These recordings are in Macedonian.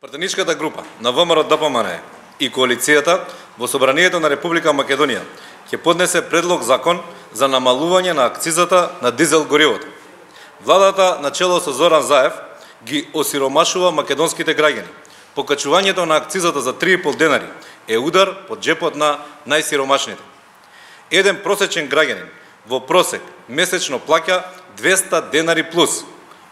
Пратеничката група на ВМРО-ДПМН и коалицијата во Собранието на Република Македонија ќе поднесе предлог закон за намалување на акцизата на дизел горивото. Владата на чело со Зоран Заев ги осиромашува македонските граѓани. Покачувањето на акцизата за 3,5 денари е удар по џепот на најсиромашните. Еден просечен граѓанин во просек месечно плаќа 200 денари плюс,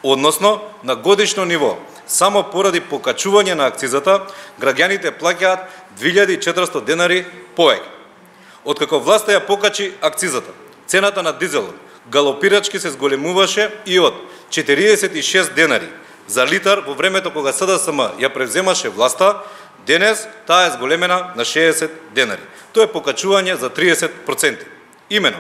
односно на годишно ниво. Само поради покачување на акцизата, граѓаните плаќаат 2400 денари повеќе. Откако власта ја покачи акцизата, цената на дизелот галопирачки се зголемуваше и од 46 денари за литар во времето кога СДСМ ја превземаше власта, денес таа е зголемена на 60 денари. Тоа е покачување за 30%. Имено,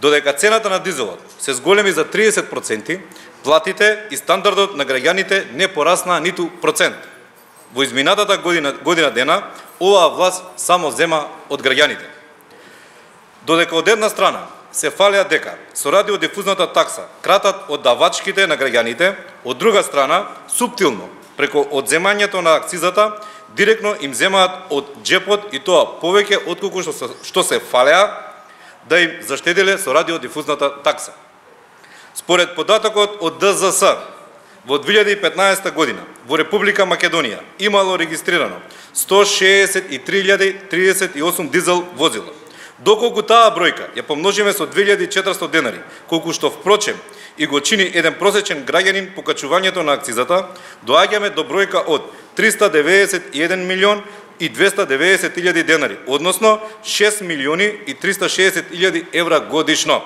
додека цената на дизелот се зголеми за 30%, платите и стандардот на граѓаните не пораснаа ниту процент. Во изминатата година дена, оваа власт само зема од граѓаните. Додека од една страна се фалеа дека со радиодифузната такса кратат од давачките на граѓаните, од друга страна, суптилно, преку одземањето на акцизата, директно им земаат од џепот и тоа повеќе отколку што се фалеа да им заштеделе со радиодифузната такса. Според податокот од ДЗС, во 2015 година во Република Македонија имало регистрирано 163.038 дизел возила. Доколку таа бројка ја помножиме со 2400 денари, колку што впрочем и го чини еден просечен граѓанин покачувањето на акцизата, доаѓаме до бројка од 391 милион и 290.000 денари, односно 6 милиони и 360.000 евра годишно.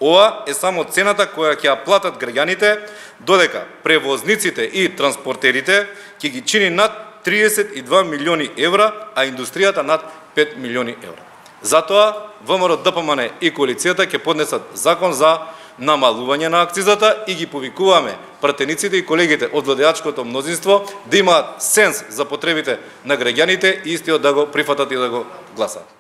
Ова е само цената која ќе ја платат граѓаните, додека превозниците и транспортерите ќе ги чини над 32 милиони евра, а индустријата над 5 милиони евра. Затоа ВМРО-ДПМН и коалицијата ќе поднесат закон за намалување на акцизата и ги повикуваме пратениците и колегите од владеачкото мнозинство да имаат сенс за потребите на граѓаните и истиот да го прифатат и да го гласат.